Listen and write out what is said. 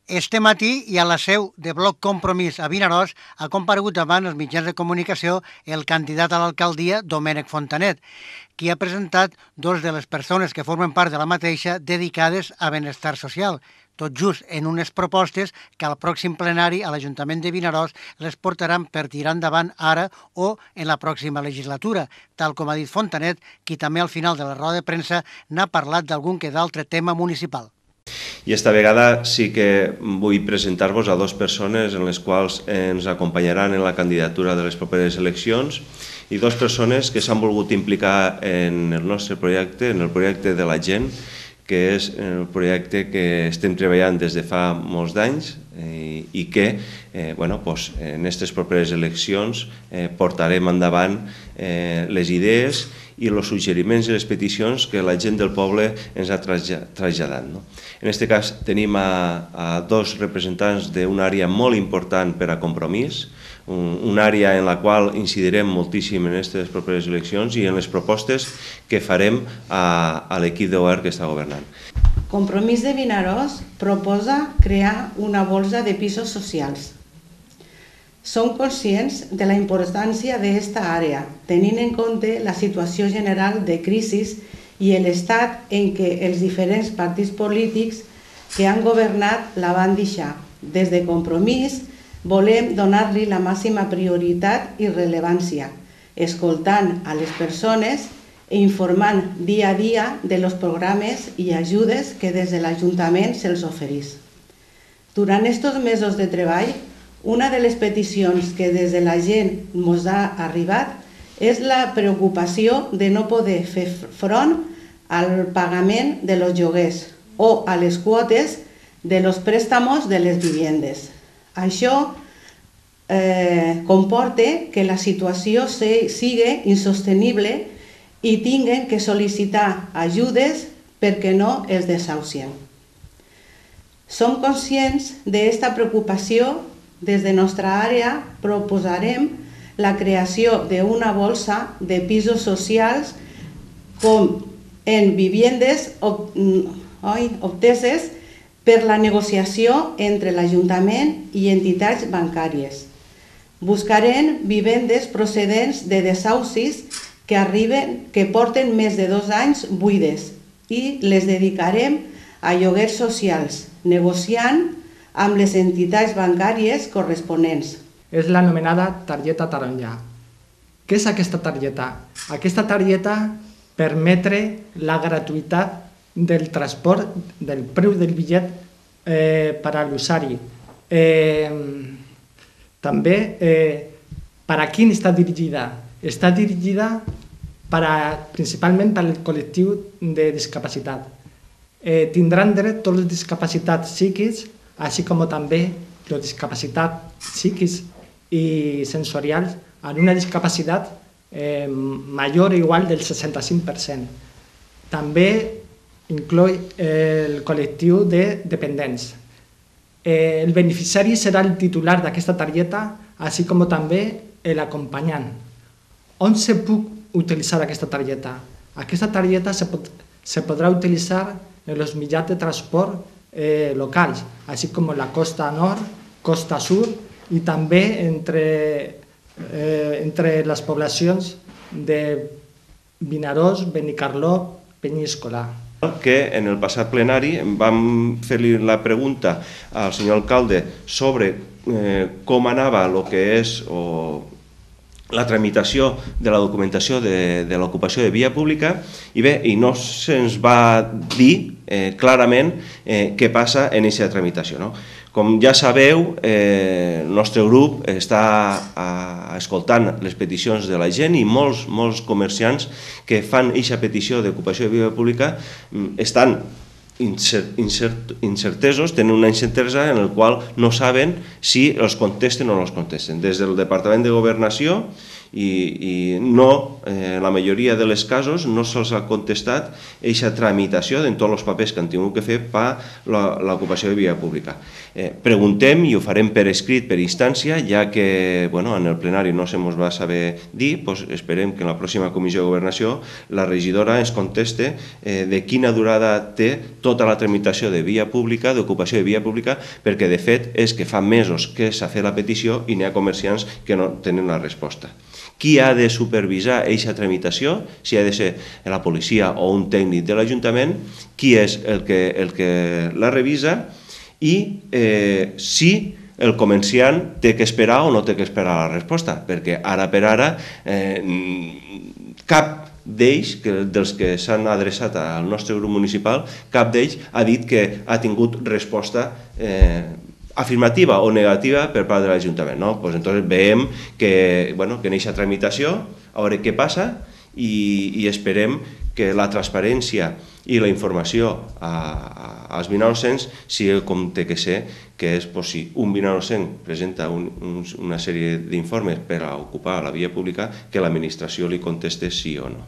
Este matí i a la seu de Bloc Compromís a Vinaròs ha comparegut davant els mitjans de comunicació el candidat a l'alcaldia, Domènec Fontanet, qui ha presentat dos de les persones que formen part de la mateixa dedicades a benestar social, tot just en unes propostes que al pròxim plenari a l'Ajuntament de Vinaròs les portaran per tirar endavant ara o en la pròxima legislatura, tal com ha dit Fontanet, qui també al final de la roda de premsa n'ha parlat d'algun que d'altre tema municipal. I esta vegada sí que vull presentar-vos a dues persones en les quals ens acompanyaran en la candidatura de les properes eleccions i dues persones que s'han volgut implicar en el nostre projecte, en el projecte de la gent, que és el projecte que estem treballant des de fa molts d'anys i que en aquestes properes eleccions portarem endavant les idees i els suggeriments i les peticions que la gent del poble ens ha traslladat. En aquest cas tenim a dos representants d'una àrea molt important per a Compromís, una àrea en la qual incidirem moltíssim en aquestes properes eleccions i en les propostes que farem a l'equip de govern que està governant. Compromís de Vinaròs proposa crear una bolsa de pisos socials. Som conscients de la importància d'esta àrea, tenint en compte la situació general de crisi i l'estat en què els diferents partits polítics que han governat la van deixar. Des de Compromís volem donar-li la màxima prioritat i rellevància, escoltant a les persones i informant dia a dia dels programes i ajudes que des de l'Ajuntament se'ls ofereix. Durant aquests mesos de treball, una de les peticions que des de la gent ens ha arribat és la preocupació de no poder fer front al pagament de los lloguers o a les quotes de los préstamos de les viviendes. Això comporta que la situació sigui insostenible i tinguin que sol·licitar ajudes perquè no els desahucien. Som conscients d'esta preocupació. Des de nostra àrea proposarem la creació d'una bolsa de pisos socials com en viviendes obteses per la negociació entre l'Ajuntament i entitats bancàries. Buscarem vivendes procedents de desahucis que porten més de 2 anys buides i les dedicarem a lloguers socials, negociant amb les entitats bancàries corresponents. És l'anomenada targeta taronja. Què és aquesta targeta? Aquesta targeta permetre la gratuïtat del transport, del preu del bitllet per a l'usuari. També, per a qui està dirigida? Està dirigida principalment per al col·lectiu de discapacitat. Tindran dret tots els discapacitats psíquics, així com també la discapacitat psíquics i sensorials en una discapacitat major o igual del 65%. També inclou el col·lectiu de dependents. El beneficiari serà el titular d'aquesta targeta, així com també l'acompanyant. On se pot utilitzar aquesta targeta? Aquesta targeta se podrà utilitzar en els mitjans de transport locals, així com la costa nord, costa sud i també entre les poblacions de Vinaròs, Benicarló, Penyíscola. Que en el passat plenari vam fer-li la pregunta al senyor alcalde sobre com anava el que és la tramitació de la documentació de l'ocupació de via pública i no se'ns va dir clarament què passa en aquesta tramitació. Com ja sabeu, el nostre grup està escoltant les peticions de la gent i molts comerciants que fan aquesta petició d'ocupació de via pública estan incertesos, tenen una incertesa en la qual no saben si els contesten o no els contesten. Des del Departament de Governació i no, en la majoria dels casos no se'ls ha contestat aquesta tramitació de tots els papers que han tingut que fer per l'ocupació de via pública. Preguntem i ho farem per escrit, per instància, ja que en el plenari no se mos va saber dir, esperem que en la pròxima comissió de governació la regidora ens conteste de quina durada té tota la tramitació de via pública, d'ocupació de via pública, perquè de fet és que fa mesos que s'ha fet la petició i n'hi ha comerciants que no tenen la resposta. Qui ha de supervisar aquesta tramitació? Si ha de ser la policia o un tècnic de l'Ajuntament, qui és el que la revisa i si el comerciant té que esperar o no té que esperar la resposta, perquè ara per ara cap d'ells, dels que s'han adreçat al nostre grup municipal, cap d'ells ha dit que ha tingut resposta afirmativa o negativa per part de l'Ajuntament. Entonces veiem que en aquesta tramitació, a veure què passa i esperem que la transparència i la informació als vinarossencs sigui com té que ser, que és si un vinarossenc presenta una sèrie d'informes per a ocupar la via pública, que l'administració li conteste sí o no.